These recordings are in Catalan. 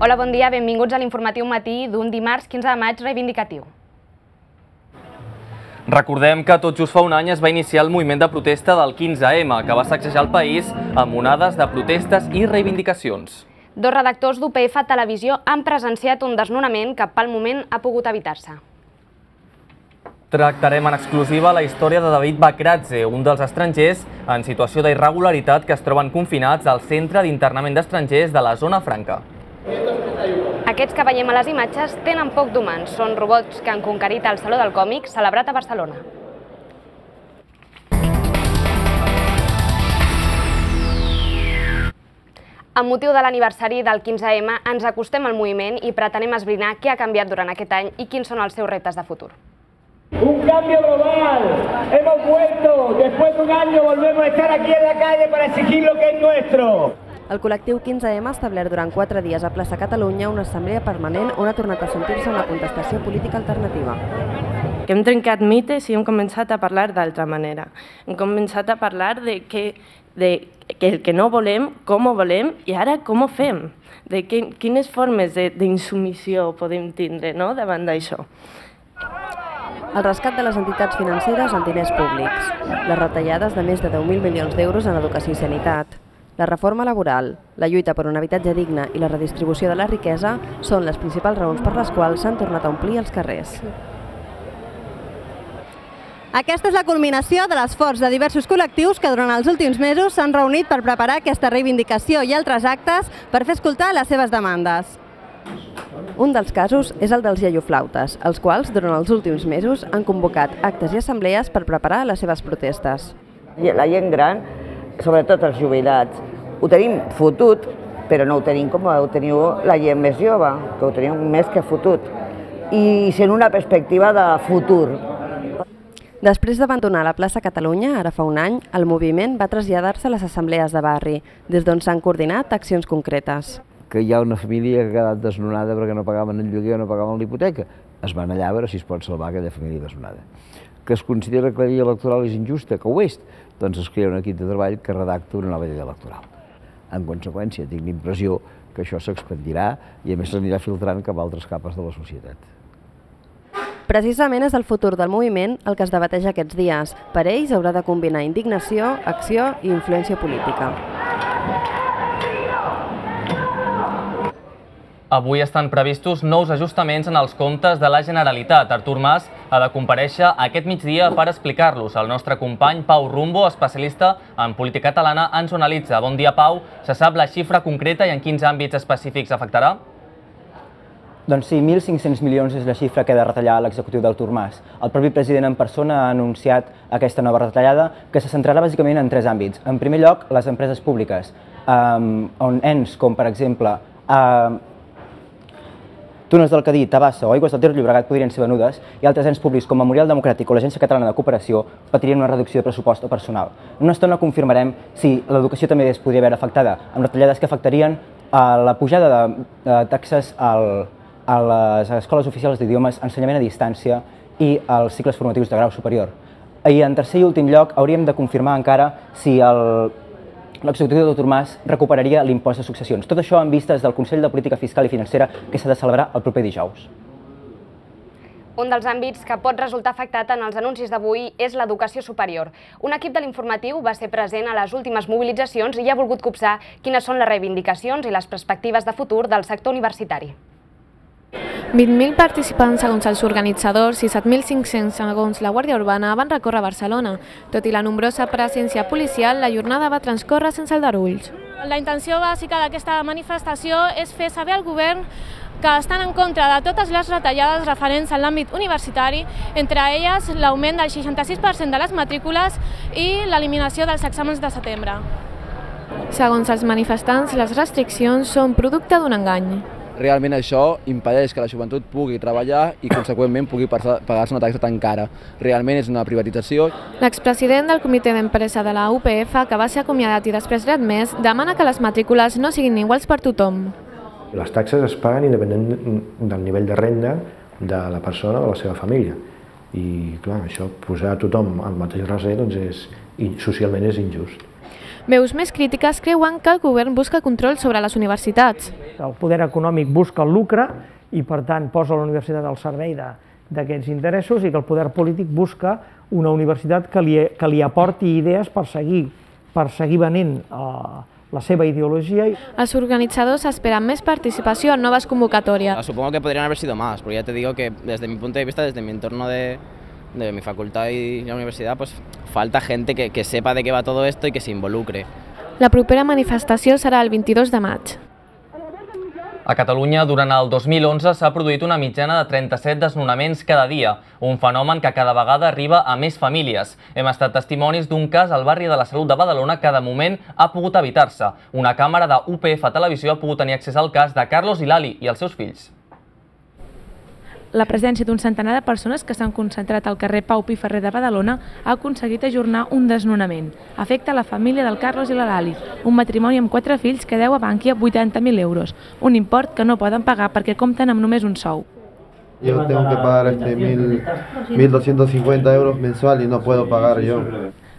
Hola, bon dia, benvinguts a l'informatiu matí d'un dimarts 15 de maig reivindicatiu. Recordem que tot just fa un any es va iniciar el moviment de protesta del 15M, que va sacsejar el país amb onades de protestes i reivindicacions. Dos redactors d'UPF Televisió han presenciat un desnonament que pel moment ha pogut evitar-se. Tractarem en exclusiva la història de David Bakradze, un dels estrangers en situació d'irregularitat que es troben confinats al Centre d'Internament d'Estrangers de la Zona Franca. Aquests que veiem a les imatges tenen poc d'humans. Són robots que han conquerit el Saló del Còmic celebrat a Barcelona. Amb motiu de l'aniversari del 15M ens acostem al moviment i pretenem esbrinar què ha canviat durant aquest any i quins són els seus reptes de futur. Un cambio global. Hemos vuelto. Después de un año volvemos a estar aquí en la calle para exigir lo que es nuestro. El col·lectiu 15M ha establert durant 4 dies a Plaça Catalunya una assemblea permanent on ha tornat a sentir-se una contestació política alternativa. Hem trencat mites i hem començat a parlar d'altra manera. Hem començat a parlar de el que no volem, com ho volem i ara com ho fem, de quines formes d'insubmissió podem tindre davant d'això. El rescat de les entitats financeres amb diners públics, les retallades de més de 10.000 milions d'euros en educació i sanitat, la reforma laboral, la lluita per un habitatge digne i la redistribució de la riquesa són les principals raons per les quals s'han tornat a omplir els carrers. Aquesta és la culminació de l'esforç de diversos col·lectius que durant els últims mesos s'han reunit per preparar aquesta reivindicació i altres actes per fer escoltar les seves demandes. Un dels casos és el dels iaioflautes, els quals durant els últims mesos han convocat actes i assemblees per preparar les seves protestes. La gent gran, sobretot els jubilats, ho tenim fotut, però no ho tenim com ho teniu la gent més jove, que ho teniu més que fotut, i sent una perspectiva de futur. Després d'abandonar la plaça Catalunya, ara fa un any, el moviment va traslladar-se a les assemblees de barri, des d'on s'han coordinat accions concretes. Que hi ha una família que ha quedat desnonada perquè no pagaven el lloguer o no pagaven l'hipoteca. Es van allà a veure si es pot salvar aquella família desnonada. Que es considera que la llei electoral és injusta, que ho és, doncs es crea un equip de treball que redacta una nova llei electoral. En conseqüència, tinc l'impressió que això s'expandirà i a més s'anirà filtrant cap a altres capes de la societat. Precisament és el futur del moviment el que es debateix aquests dies. Per ells haurà de combinar indignació, acció i influència política. Avui estan previstos nous ajustaments en els comptes de la Generalitat. Artur Mas ha de comparèixer aquest migdia per explicar-los. El nostre company Pau Rumbo, especialista en política catalana, ens ho analitza. Bon dia, Pau. Se sap la xifra concreta i en quins àmbits específics afectarà? Doncs sí, 1.500 milions és la xifra que ha de retallar l'executiu d'Artur Mas. El propi president en persona ha anunciat aquesta nova retallada que se centrarà bàsicament en 3 àmbits. En primer lloc, les empreses públiques, on ens com, per exemple, Túnels del Cadí, Tabassa o Aigües del Ter Llobregat podrien ser venudes i altres ens públics com Memorial Democràtic o l'Agència Catalana de Cooperació patirien una reducció de pressupost o personal. En una estona confirmarem si l'educació també es podria veure afectada, amb retallades que afectarien la pujada de taxes a les escoles oficials d'idiomes, ensenyament a distància i als cicles formatius de grau superior. I en tercer i últim lloc hauríem de confirmar encara si l'executiu d'Artur Mas recuperaria l'impost de successions. Tot això en vistes del Consell de Política Fiscal i Financera que s'ha de celebrar el proper dijous. Un dels àmbits que pot resultar afectat en els anuncis d'avui és l'educació superior. Un equip de l'informatiu va ser present a les últimes mobilitzacions i ha volgut copsar quines són les reivindicacions i les perspectives de futur del sector universitari. 20.000 participants segons els organitzadors i 7.500 segons la Guàrdia Urbana van recórrer a Barcelona. Tot i la nombrosa presència policial, la jornada va transcórrer sense aldarulls. La intenció bàsica d'aquesta manifestació és fer saber al govern que estan en contra de totes les retallades referents a l'àmbit universitari, entre elles l'augment del 66% de les matrícules i l'eliminació dels exàmens de setembre. Segons els manifestants, les restriccions són producte d'un engany. Realment això impedeix que la joventut pugui treballar i, conseqüentment, pugui pagar-se una taxa tan cara. Realment és una privatització. L'expresident del comitè d'empresa de la UPF, que va ser acomiadat i després readmès, demana que les matrícules no siguin iguals per tothom. Les taxes es paguen independent del nivell de renda de la persona o de la seva família. I, clar, això, posar a tothom al mateix raser, doncs socialment és injust. Veus més crítiques creuen que el govern busca control sobre les universitats. el poder econòmic busca el lucre i, per tant, posa la universitat al servei d'aquests interessos i que el poder polític busca una universitat que li aporti idees per seguir venent la seva ideología. Els organitzadors esperen més participació en noves convocatorias. Supongo que podrían haber sido más, porque ya te digo que desde mi punto de vista, desde mi entorno de mi facultad y la universidad, pues falta gente que sepa de qué va todo esto y que se involucre. La propera manifestació serà el 22 de maig. A Catalunya, durant el 2011, s'ha produït una mitjana de 37 desnonaments cada dia, un fenomen que cada vegada arriba a més famílies. Hem estat testimonis d'un cas al barri de la Salut de Badalona que de moment ha pogut evitar-se. Una càmera de UPF Televisió ha pogut tenir accés al cas de Carlos i Lali i els seus fills. La presència d'un centenar de persones que s'han concentrat al carrer Pau Pi Ferrer de Badalona ha aconseguit ajornar un desnonament. Afecta la família del Carlos i la Lali, un matrimoni amb 4 fills que deu a Bankia 80.000 euros, un import que no poden pagar perquè compten amb només un sou. Yo tengo que pagar 1.250 euros mensual y no puedo pagar yo.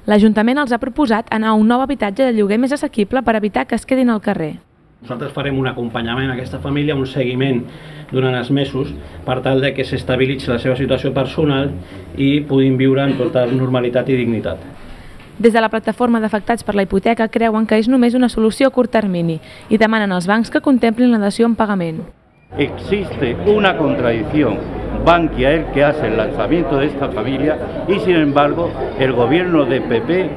L'Ajuntament els ha proposat anar a un nou habitatge de lloguer més assequible per evitar que es quedin al carrer. Nosaltres farem un acompanyament a aquesta família, un seguiment durant els mesos per tal de que s'estabilitzi la seva situació personal i puguin viure amb tota normalitat i dignitat. Des de la plataforma d'afectats per la hipoteca creuen que és només una solució a curt termini i demanen als bancs que contemplin la dació en pagament. Existe una contradicción. Bankia es el que hace el lanzamiento de esta familia y sin embargo el gobierno de PP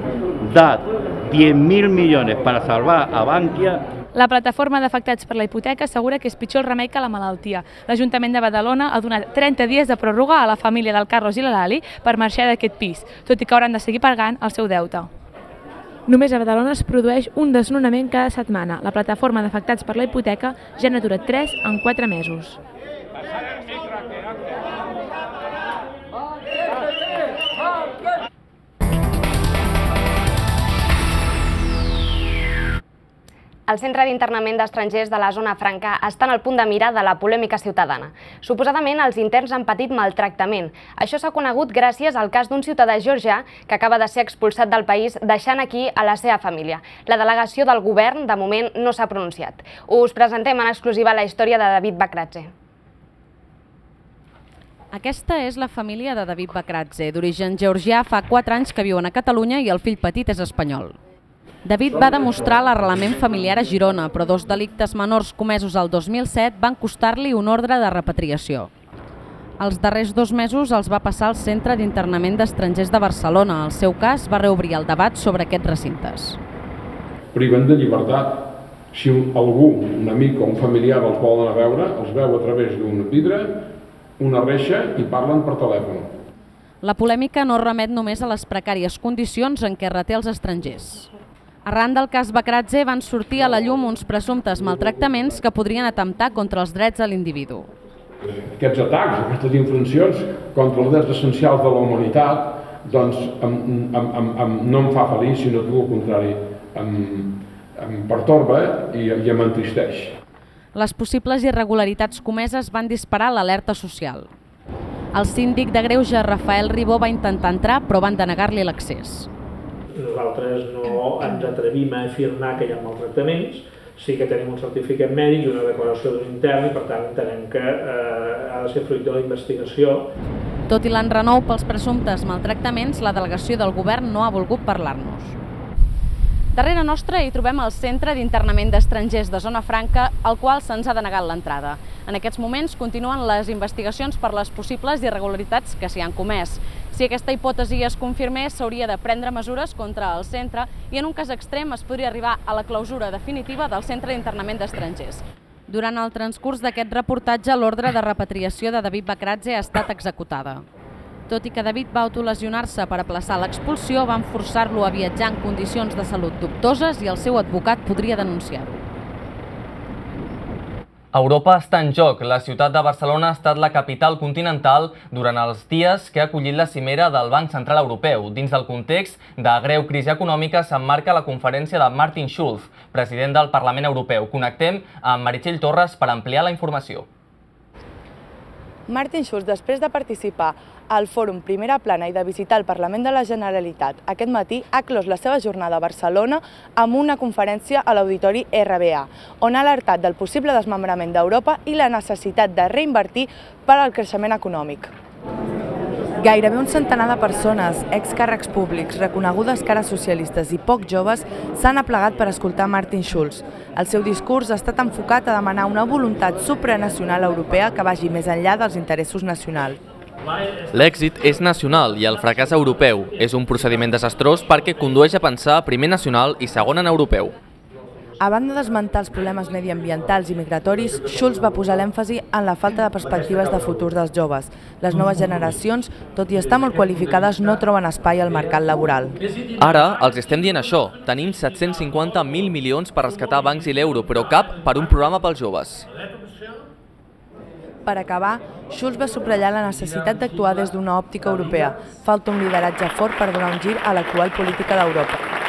da 10.000 millones para salvar a Bankia. La plataforma d'afectats per la hipoteca assegura que és pitjor el remei que la malaltia. L'Ajuntament de Badalona ha donat 30 dies de pròrroga a la família del Carlos i la Lali per marxar d'aquest pis, tot i que hauran de seguir pagant el seu deute. Només a Badalona es produeix un desnonament cada setmana. La plataforma d'afectats per la hipoteca ja n'ha aturat 3 en 4 mesos. El Centre d'Internament d'Estrangers de la Zona Franca està en el punt de mira de la polèmica ciutadana. Suposadament, els interns han patit maltractament. Això s'ha conegut gràcies al cas d'un ciutadà georgià que acaba de ser expulsat del país, deixant aquí a la seva família. La delegació del govern, de moment, no s'ha pronunciat. Us presentem en exclusiva la història de David Bakradze. Aquesta és la família de David Bakradze. D'origen georgià, fa 4 anys que viuen a Catalunya i el fill petit és espanyol. David va demostrar l'arrelament familiar a Girona, però 2 delictes menors comesos el 2007 van costar-li un ordre de repatriació. Els darrers 2 mesos els va passar al Centre d'Internament d'Estrangers de Barcelona. El seu cas va reobrir el debat sobre aquests recintes. Priven de llibertat. Si algú, un amic o un familiar els volen a veure, els veu a través d'un vidre, una reixa i parlen per telèfon. La polèmica no remet només a les precàries condicions en què reté els estrangers. Arran del cas Bakradze van sortir a la llum uns presumptes maltractaments que podrien atemptar contra els drets de l'individu. Aquests atacs, aquestes infraccions contra els drets essencials de la humanitat, doncs no em fa feliç, sinó tot el contrari, em pertorba i em entristeix. Les possibles irregularitats comeses van disparar l'alerta social. El síndic de Greuges, Rafael Ribó, va intentar entrar, però van denegar-li l'accés. Nosaltres no ens atrevim a afirmar que hi ha maltractaments, sí que tenim un certificat mèdic i una declaració d'un intern i per tant entenem que ha de ser fruit de la investigació. Tot i l'enrenou pels presumptes maltractaments, la delegació del govern no ha volgut parlar-nos. Darrere nostra hi trobem el Centre d'Internament d'Estrangers de Zona Franca, al qual se'ns ha denegat l'entrada. En aquests moments continuen les investigacions per les possibles irregularitats que s'hi han comès. Si aquesta hipòtesi es confirmés, s'hauria de prendre mesures contra el centre i en un cas extrem es podria arribar a la clausura definitiva del Centre d'Internament d'Estrangers. Durant el transcurs d'aquest reportatge, l'ordre de repatriació de David Bakradze ha estat executada. Tot i que David va autolesionar-se per aplaçar l'expulsió, van forçar-lo a viatjar en condicions de salut dubtoses i el seu advocat podria denunciar-ho. Europa està en joc. La ciutat de Barcelona ha estat la capital continental durant els dies que ha acollit la cimera del Banc Central Europeu. Dins del context de greu crisi econòmica s'emmarca la conferència de Martin Schulz, president del Parlament Europeu. Connectem amb Meritxell Torres per ampliar la informació. Martin Schulz, després de participar al Fòrum Primera Plana i de visitar el Parlament de la Generalitat aquest matí, ha clos la seva jornada a Barcelona amb una conferència a l'Auditori RBA, on ha alertat del possible desmembrament d'Europa i la necessitat de reinvertir per al creixement econòmic. Gairebé un centenar de persones, excàrrecs públics, reconegudes cares socialistes i poc joves s'han aplegat per escoltar Martin Schulz. El seu discurs ha estat enfocat a demanar una voluntat supranacional europea que vagi més enllà dels interessos nacionals. L'èxit és nacional i el fracàs europeu. És un procediment desastrós perquè condueix a pensar primer nacional i segon en europeu. A banda d'esmentar els problemes mediambientals i migratoris, Schulz va posar l'èmfasi en la falta de perspectives de futur dels joves. Les noves generacions, tot i estar molt qualificades, no troben espai al mercat laboral. Ara els estem dient això. Tenim 750.000 milions per rescatar bancs i l'euro, però cap per un programa pels joves. Per acabar, Schulz va subratllar la necessitat d'actuar des d'una òptica europea. Falta un lideratge fort per donar un gir a l'actual política d'Europa.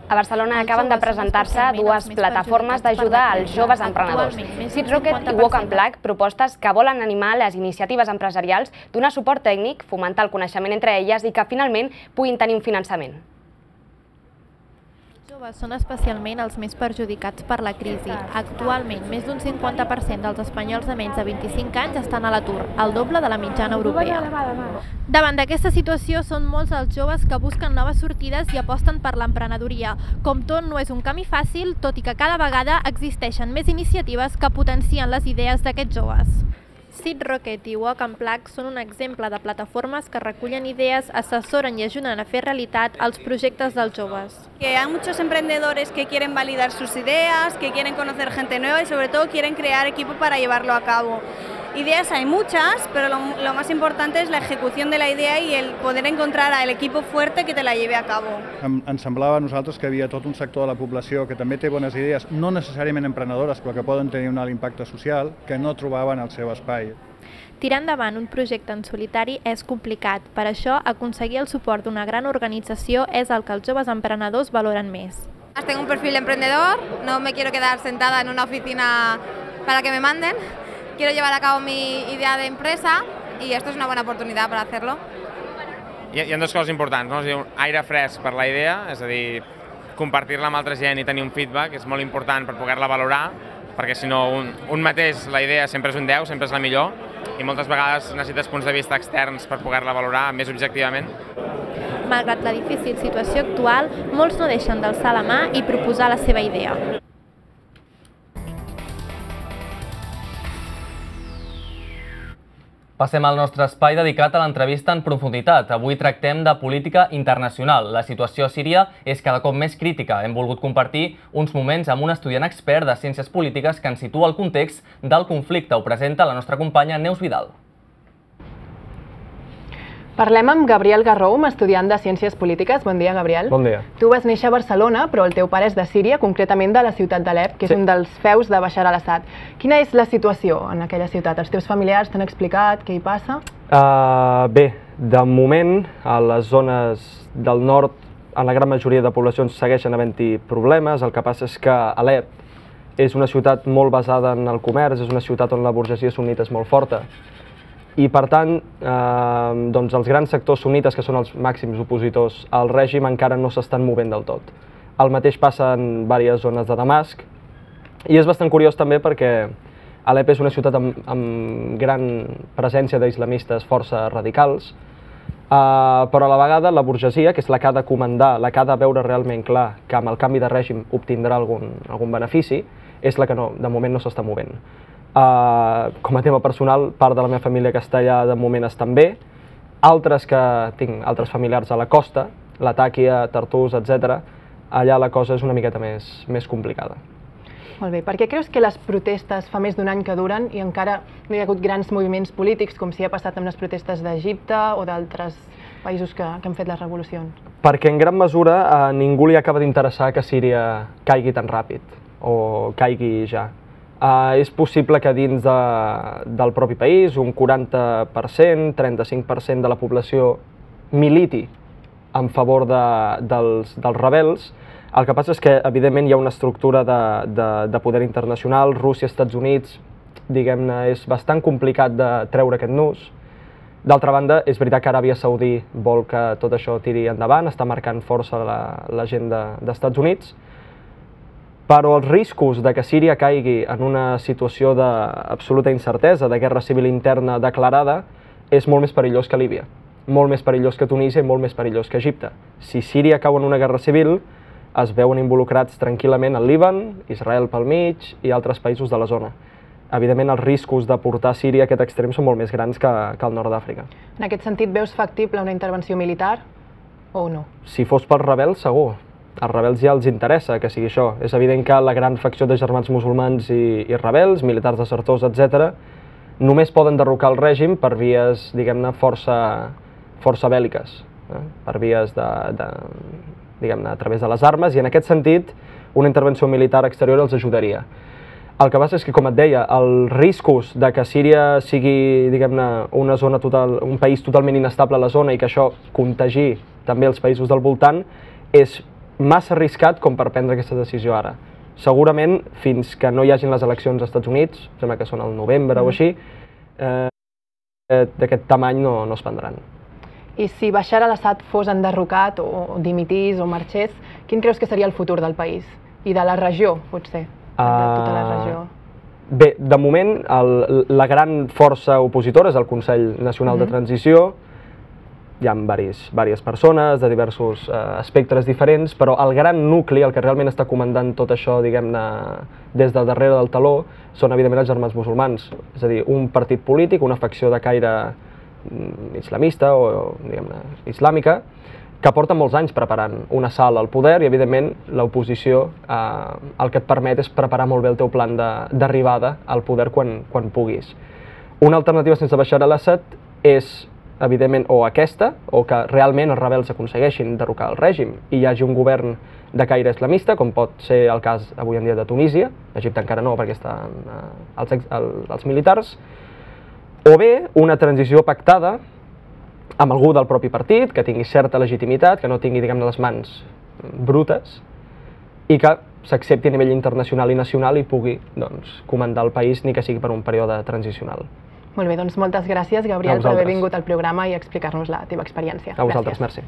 A Barcelona acaben de presentar-se dues plataformes d'ajuda als joves emprenedors. Seed Rocket i Walk and Plug, propostes que volen animar les iniciatives empresarials, donar suport tècnic, fomentar el coneixement entre elles i que finalment puguin tenir un finançament. Els joves són especialment els més perjudicats per la crisi. Actualment, més d'un 50% dels espanyols de menys de 25 anys estan a l'atur, el doble de la mitjana europea. Davant d'aquesta situació, són molts els joves que busquen noves sortides i aposten per l'emprenedoria. Com tot, no és un camí fàcil, tot i que cada vegada existeixen més iniciatives que potencien les idees d'aquests joves. Seed Rocket i Walk and Plug són un exemple de plataformes que recullen idees, assessoren i ajuden a fer realitat els projectes dels joves. Que hay muchos emprendedores que quieren validar sus ideas, que quieren conocer gente nueva y sobre todo quieren crear equipo para llevarlo a cabo. Ideas hay muchas, pero lo más importante es la ejecución de la idea y el poder encontrar al equipo fuerte que te la lleve a cabo. Ens semblava a nosaltres que hi havia tot un sector de la població que també té bones idees, no necessàriament emprenedores, però que poden tenir un alt impacte social, que no trobaven el seu espai. Tirar endavant un projecte en solitari és complicat. Per això, aconseguir el suport d'una gran organització és el que els joves emprenedors valoren més. Tengo un perfil emprendedor, no me quiero quedar sentada en una oficina para que me manden. Quiero llevar a cabo mi idea de empresa y esto es una buena oportunidad para hacerlo. Hi ha dues coses importants, no? Un aire fresc per la idea, és a dir, compartir-la amb altra gent i tenir un feedback és molt important per poder-la valorar, perquè si no un mateix la idea sempre és un 10, sempre és la millor, i moltes vegades necessites punts de vista externs per poder-la valorar més objectivament. Malgrat la difícil situació actual, molts no deixen d'alçar la mà i proposar la seva idea. Passem al nostre espai dedicat a l'entrevista en profunditat. Avui tractem de política internacional. La situació a Síria és cada cop més crítica. Hem volgut compartir uns moments amb un estudiant expert de ciències polítiques que ens situa el context del conflicte. Ho presenta la nostra companya Neus Vidal. Parlem amb Gabriel Garroum, estudiant de Ciències Polítiques. Bon dia, Gabriel. Bon dia. Tu vas néixer a Barcelona, però el teu pare és de Síria, concretament de la ciutat d'Alep, que és un dels feus de Bashar al-Assad. Quina és la situació en aquella ciutat? Els teus familiars t'han explicat què hi passa? Bé, de moment, a les zones del nord, en la gran majoria de poblacions segueixen havent-hi problemes. El que passa és que Alep és una ciutat molt basada en el comerç, és una ciutat on la burgesia sunnita és molt forta. I, per tant, els grans sectors sunnites, que són els màxims opositors al règim, encara no s'estan movent del tot. El mateix passa en diverses zones de Damasc, i és bastant curiós també perquè Alep és una ciutat amb gran presència d'islamistes força radicals, però a la vegada la burgesia, que és la que ha de comandar, la que ha de veure realment clar que amb el canvi de règim obtindrà algun benefici, és la que de moment no s'està movent. Com a tema personal, part de la meva família que està allà de moment estan bé, tinc altres familiars a la costa, Latakia, Tartús, etc. Allà la cosa és una miqueta més complicada. Molt bé. Per què creus que les protestes fa més d'un any que duren i encara no hi ha hagut grans moviments polítics, com si ha passat amb les protestes d'Egipte o d'altres països que han fet les revolucions? Perquè en gran mesura a ningú li acaba d'interessar que Síria caigui tan ràpid, o caigui ja. És possible que dins del propi país un 40%, 35% de la població militi en favor dels rebels. El que passa és que, evidentment, hi ha una estructura de poder internacional. Rússia, Estats Units, diguem-ne, és bastant complicat de treure aquest nus. D'altra banda, és veritat que Aràbia Saudí vol que tot això tiri endavant, està marcant força l'agenda d'Estats Units, però els riscos de que Síria caigui en una situació d'absoluta incertesa, de guerra civil interna declarada, és molt més perillós que Líbia, molt més perillós que Tunísia i molt més perillós que Egipte. Si Síria cau en una guerra civil, es veuen involucrats tranquil·lament el Líban, Israel pel mig i altres països de la zona. Evidentment, els riscos de portar Síria a aquest extrem són molt més grans que al nord d'Àfrica. En aquest sentit, veus factible una intervenció militar o no? Si fos pels rebels, segur. Als rebels ja els interessa que sigui això. És evident que la gran facció de germans musulmans i rebels, militars desertors, etc., només poden derrocar el règim per vies, diguem-ne, força bèl·liques, per vies diguem-ne, a través de les armes, i en aquest sentit una intervenció militar exterior els ajudaria. El que passa és que, com et deia, els riscos de que Síria sigui, diguem-ne, un país totalment inestable a la zona i que això contagi també els països del voltant és massa arriscat com per prendre aquesta decisió ara. Segurament, fins que no hi hagin les eleccions als Estats Units, sembla que són al novembre o així, d'aquest tamany no es prendran. I si Bashar al-Assad fos enderrocat o dimitís o marxés, quin creus que seria el futur del país? I de la regió, potser, de tota la regió. Bé, de moment, la gran força opositora és el Consell Nacional de Transició. Hi ha diverses persones de diversos espectres diferents, però el gran nucli, el que realment està comandant tot això, diguem-ne, des de darrere del taló, són evidentment els germans musulmans. És a dir, un partit polític, una facció de caire islamista o, diguem-ne, islàmica, que porta molts anys preparant un assalt al poder i, evidentment, l'oposició el que et permet és preparar molt bé el teu plan d'arribada al poder quan puguis. Una alternativa sense Bashar al-Assad és, evidentment, o aquesta, o que realment els rebels aconsegueixin derrocar el règim i hi hagi un govern de caire islamista, com pot ser el cas avui en dia de Tunísia, Egipte encara no perquè estan els militars, o bé una transició pactada amb algú del propi partit, que tingui certa legitimitat, que no tingui, diguem-ne, les mans brutes, i que s'accepti a nivell internacional i nacional i pugui, doncs, comandar el país, ni que sigui per un període transicional. Molt bé, doncs moltes gràcies, Gabriel, per haver vingut al programa i explicar-nos la teva experiència. A vosaltres, merci.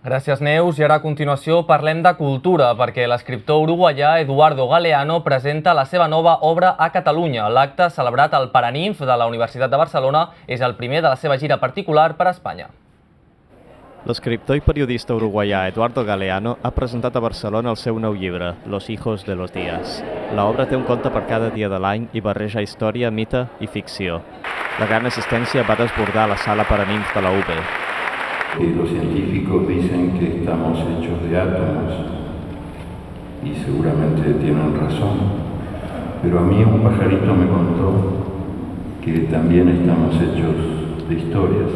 Gràcies, Neus. I ara a continuació parlem de cultura, perquè l'escriptor uruguaià Eduardo Galeano presenta la seva nova obra a Catalunya. L'acte, celebrat al Paraninf de la Universitat de Barcelona, és el primer de la seva gira particular per a Espanya. L'escriptor i periodista uruguaià Eduardo Galeano ha presentat a Barcelona el seu nou llibre, Los hijos de los días. L'obra té un conte per cada dia de l'any i barreja història, mite i ficció. La gran assistència va desbordar la sala Paraninf de la UB. Los científicos dicen que estamos hechos de átomos y seguramente tienen razón, pero a mí un pajarito me contó que también estamos hechos de historias.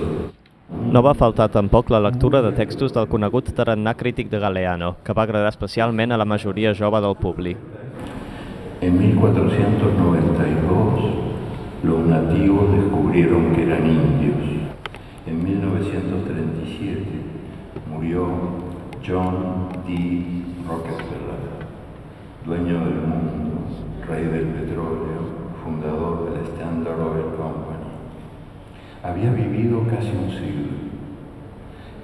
No va faltar tampoc la lectura de textos del conegut tarannà crític de Galeano, que va agradar especialment a la majoria jove del públic. En 1492 los nativos descubrieron que eran indios. En 1937 murió John D. Rockefeller, dueño del mundo, rey del petróleo, fundador del Standard Oil Company. Había vivido casi un siglo.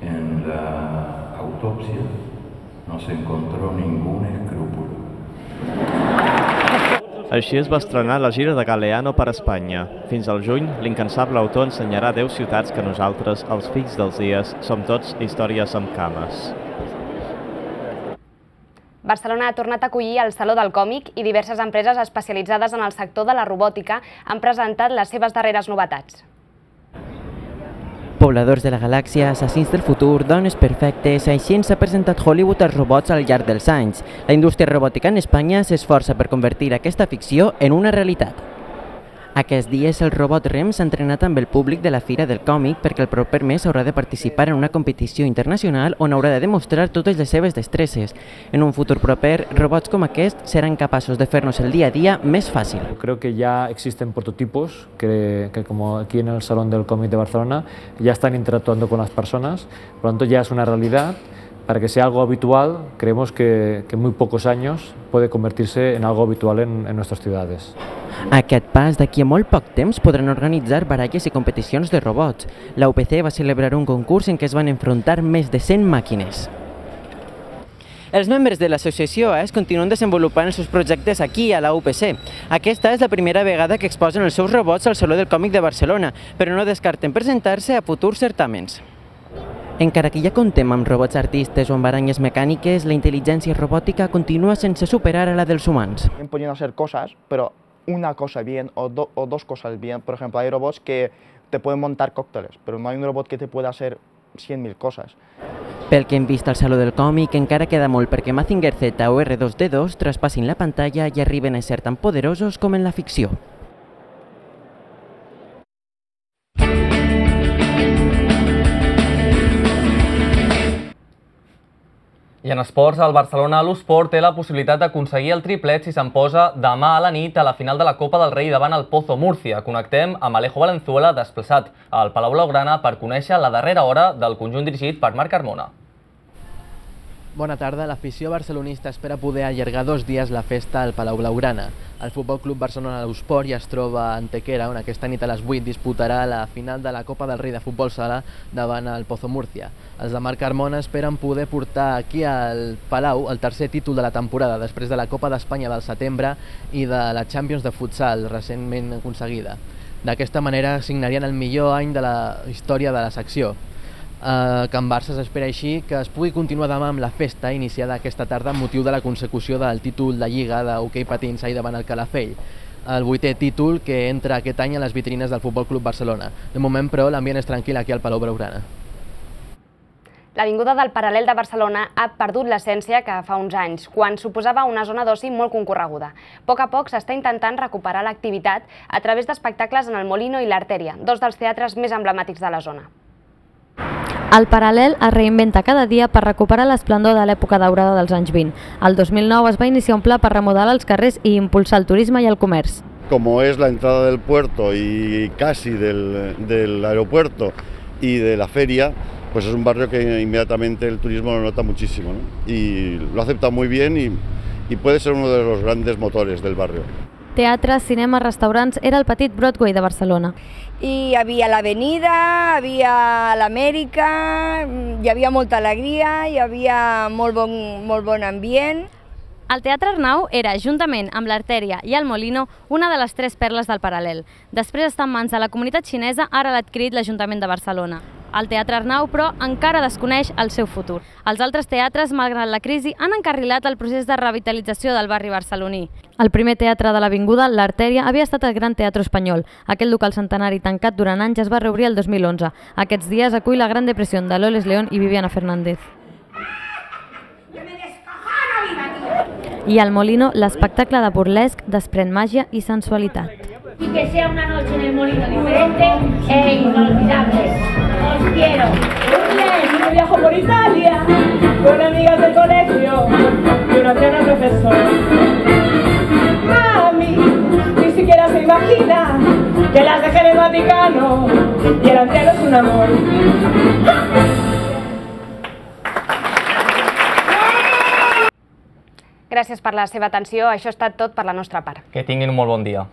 En la autopsia no se encontró ningún escrúpulo. Així es va estrenar la gira de Galeano per Espanya. Fins al juny, l'incansable autor ensenyarà 10 ciutats que nosaltres, els fills dels dies, som tots històries amb cames. Barcelona ha tornat a acollir el Saló del Còmic i diverses empreses especialitzades en el sector de la robòtica han presentat les seves darreres novetats. Pobladors de la galàxia, assassins del futur, dones perfectes, així ens ha presentat Hollywood els robots al llarg dels anys. La indústria robòtica en Espanya s'esforça per convertir aquesta ficció en una realitat. Aquests dies el robot Rem s'ha entrenat amb el públic de la Fira del Còmic perquè el proper mes haurà de participar en una competició internacional on haurà de demostrar totes les seves destreses. En un futur proper, robots com aquest seran capaços de fer-nos el día a día més fàcil. Creo que ya existen prototipos que como aquí en el Salón del Cómic de Barcelona ya están interactuando con las personas, por lo tanto ya es una realidad. Para que sea algo habitual, creemos que en muy pocos años puede convertirse en algo habitual en nuestras ciudades. A aquest pas, d'aquí a molt poc temps podran organitzar baralles i competicions de robots. La UPC va celebrar un concurs en què es van enfrontar més de 100 màquines. Els membres de l'associació continuen desenvolupant els seus projectes aquí, a la UPC. Aquesta és la primera vegada que exposen els seus robots al Saló del Còmic de Barcelona, però no descarten presentar-se a futurs certàmens. Encara que ja comptem amb robots artistes o amb aranyes mecàniques, la intel·ligència robòtica continua sense superar a la dels humans. Pueden hacer cosas, pero una cosa bien o dos cosas bien. Por ejemplo, hay robots que te pueden montar cócteles, pero no hay un robot que te pueda hacer 100.000 cosas. Pel que hem vist al Saló del Còmic, encara queda molt perquè Mazinger Z o R2D2 traspassin la pantalla i arriben a ser tan poderosos com en la ficció. I en esports, el Barcelona l'Usport té la possibilitat d'aconseguir el triplet si se'n posa demà a la nit a la final de la Copa del Rei davant el Pozo Múrcia. Connectem amb Alejo Valenzuela, desplaçat al Palau Blaugrana per conèixer la darrera hora del conjunt dirigit per Marc Carmona. Bona tarda. L'afició barcelonista espera poder allargar 2 dies la festa al Palau Blaugrana. El Futbol Club Barcelona l'Usport ja es troba a Antequera, on aquesta nit a les 8 disputarà la final de la Copa del Rei de Futbol Sala davant el Pozo Múrcia. Els de Marc Carmona esperen poder portar aquí al Palau el tercer títol de la temporada, després de la Copa d'Espanya del setembre i de la Champions de futsal recentment aconseguida. D'aquesta manera signarien el millor any de la història de la secció. Can Barça s'espera així que es pugui continuar demà amb la festa iniciada aquesta tarda amb motiu de la consecució del títol de Lliga d'hoquei patins ahir davant el Calafell, el 8è títol que entra aquest any a les vitrines del Futbol Club Barcelona. De moment, però, l'ambient és tranquil aquí al Palau Blaugrana. L'Avinguda del Paral·lel de Barcelona ha perdut l'essència que fa uns anys, quan suposava una zona d'oci molt concorreguda. A poc s'està intentant recuperar l'activitat a través d'espectacles en el Molino i l'Artèria, dos dels teatres més emblemàtics de la zona. El Paral·lel es reinventa cada dia per recuperar l'esplendor de l'època daurada dels anys 20. El 2009 es va iniciar un pla per remodelar els carrers i impulsar el turisme y el comerç. Como es la entrada del puerto y casi del aeropuerto y de la feria, pues es un barrio que inmediatamente el turismo lo nota muchísimo, ¿no? Y lo ha aceptado muy bien y puede ser uno de los grandes motores del barrio. Teatres, cinemes, restaurants, era el petit Broadway de Barcelona. I hi havia l'Avenida, hi havia l'Amèrica, hi havia molta alegria, hi havia molt bon ambient. El Teatre Arnau era, juntament amb l'Artèria i el Molino, una de les 3 perles del Paral·lel. Després d'estar en mans de la comunitat xinesa, ara l'ha adquirit l'Ajuntament de Barcelona. El Teatre Arnau, però, encara desconeix el seu futur. Els altres teatres, malgrat la crisi, han encarrilat el procés de revitalització del barri barceloní. El primer teatre de l'Avinguda, l'Artèria, havia estat el Gran Teatre Espanyol. Aquest local centenari tancat durant anys es va reobrir el 2011. Aquests dies acull la Gran Depressió de Loles León i Viviana Fernández. I al Molino, l'espectacle de burlesc desprèn màgia i sensualitat. Y que sea una noche en el Molino diferente e inolvidable. Os quiero. Yo viajo por Italia con amigas del colegio y una anciana profesora. Mami, ni siquiera se imagina que las dejé en el Vaticano y el anciano es un amor. Gràcies per la seva atenció. Això ha estat tot per la nostra part. Que tinguin un molt bon dia.